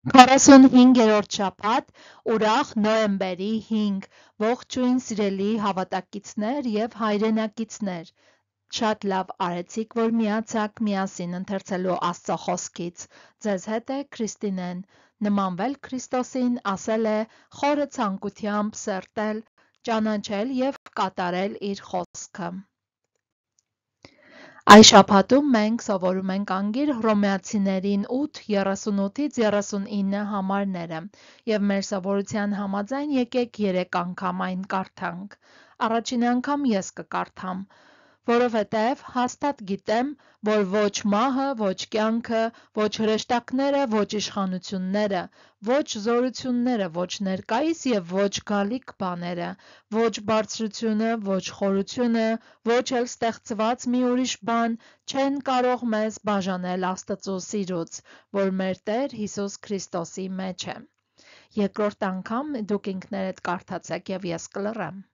45-րդ շաբաթ, ուրախ նոյեմբերի 5, ողջույն սիրելի հավատակիցներ և հայրենակիցներ, շատ լավ արեցիք, որ միացաք միասին ընթերցելու Աստծո խոսքից, ձեզ հետ է Քրիստինեն, նմանվել Քրիստոսին ասել է խորը ցանկությամբ սերտել, ճանաչել և կատարել իր խոսքը։ Այս շաբաթում մենք սովորում ենք անգիր Հռոմեացիներին 8, 38-39 համարները և մեր սովորության համաձայն եկեք 3 անգամ այն կարդանք։ Առաջին անգամ ես կկարդամ, որովհետև հաստատ գիտեմ, որ ոչ մահը, ոչ կյանքը, ոչ հրեշտակները, ոչ իշխանությունները, ոչ զորությունները, ոչ ներկայիս և ոչ գալիք բաները, ոչ բարձրությունը, ոչ խորությունը, ոչ էլ ստեղծված մի ուրիշ բան չեն կարող մեզ բաժանել Աստծո սիրուց, որ մեր Տեր Հիսուս Քրիստոսի մեջ է։ Երկրորդ անգամ դուք ինքներդ կարդացեք և ես կլռեմ։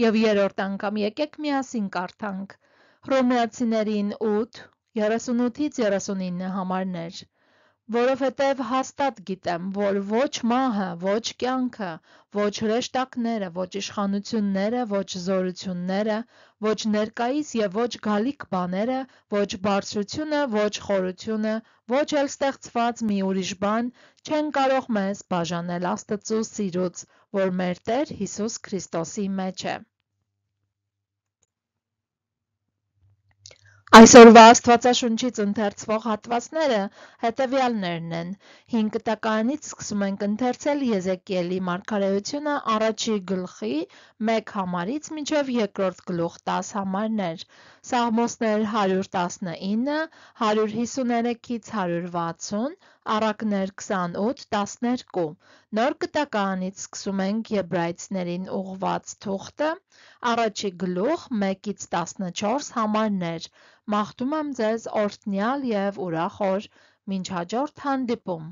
Եվ երրորդ անգամ եկեք միասին կարդանք Հռոմեացիներին 8, 38-39 համարներ, որովհետև հաստատ գիտեմ, որ ոչ մահը, ոչ կյանքը, ոչ հրեշտակները, ոչ իշխանությունները, ոչ զորությունները, ոչ ներկայիս և ոչ գալիք բաները, ոչ բարձրությունը, ոչ խորությունը, ոչ էլ ստեղծված մի ուրիշ բան չեն կարող մեզ բաժանել Աստծո սիրուց, որ մեր Տեր Հիսուս Քրիստոսի մեջ է։ Այսօրվա Աստվածաշունչից ընթերցվող հատվածները հետևյալներն են. 5 տականից սկսում ենք ընթերցել Եզեկիելի մարգարեությունը առաջի գլխի 1 համարից մինչև երկրորդ գլուխ 10 համարներ, Սաղմոսներ 119, 153-ից 160, Առակներ 28-12, Նոր Կտականից սկսում ենք Եբրայեցիներին ուղղված թուղթը, առաջի գլուխ 1-ից 14 համարներ, մաղթում եմ ձեզ օրհնյալ և ուրախ օր, մինչ հաջորդ հանդիպում։